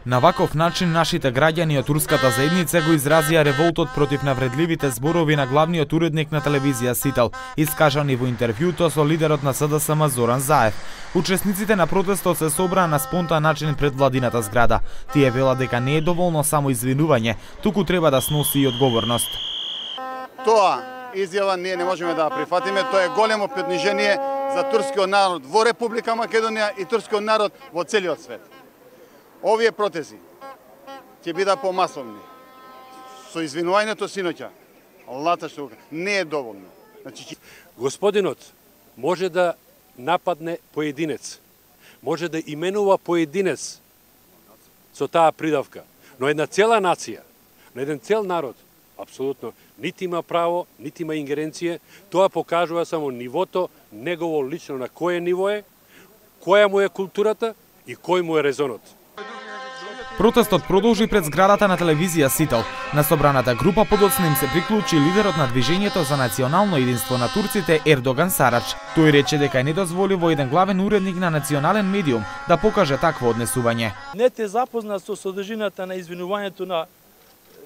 На ваков начин нашите граѓани од турската заедница го изразија револтот против навредливите зборови на главниот уредник на телевизија Сител, искажани во интервјуто со лидерот на СДСМ Зоран Заев. Учесниците на протестот се собраа на спонтан начин пред владината зграда. Тие велат дека не е доволно само извинување, туку треба да сноси и одговорност. Тоа изјава ние не можеме да прифатиме, тоа е големо понижение за турскиот народ во Република Македонија и турскиот народ во целиот свет. Овие протези ќе бидат помасовни. Со извинувањето синоќа, Аллата што не е доволно. Значи, господинот може да нападне поединец, може да именува поединец со таа придавка, но една цела нација, на еден цел народ, апсолутно нити има право, нити има ингеренција. Тоа покажува само нивото негово лично, на кое ниво е, која му е културата и кој му е резонот. Протестот продолжи пред зградата на телевизија Сител. На собраната група подоцна им се приклучи лидерот на движењето за национално единство на турците Ердоган Сарач. Тој рече дека е недозволиво еден главен уредник на национален медиум да покаже такво однесување. Не те запозна со содржината на извинувањето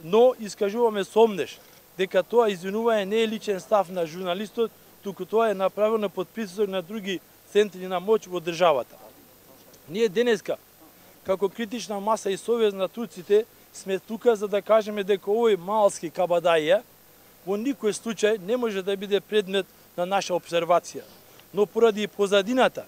но искажуваме сомнеш дека тоа извинување не е личен став на журналистот, туку тоа е направено под притисок на други центри на моќ во државата. Ние денеска како критична маса и совест на турците сме тука за да кажеме дека овој малски кабадаија во никој случај не може да биде предмет на наша обсервација. Но поради позадината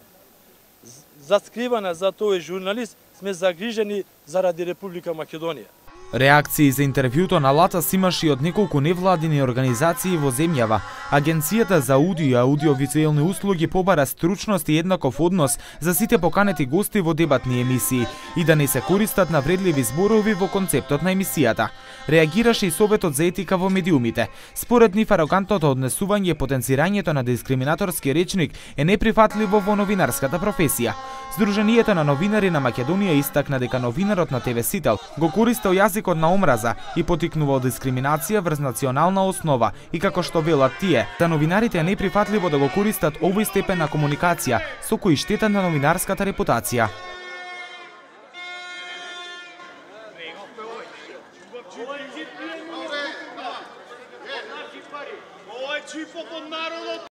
заскривана за тој журналист сме загрижени заради Република Македонија. Реакции за интервјуто на Латас имаше и од неколку невладини организации во земјава. Агенцијата за аудио и аудиовизуелни услуги побара стручност и еднаков однос за сите поканети гости во дебатни емисии и да не се користат навредливи зборови во концептот на емисијата. Реагираше и Советот за етика во медиумите. Според нив арогантното однесување и потенцирањето на дискриминаторски речник е неприфатливо во новинарската професија. Сдруженијето на новинари на Македонија истакна дека новинарот на ТВ Сител го користел јазикот на омраза и потикнувал дискриминација врз национална основа и како што велат тие, за новинарите е неприфатливо да го користат овој степен на комуникација со кој штета на новинарската репутација.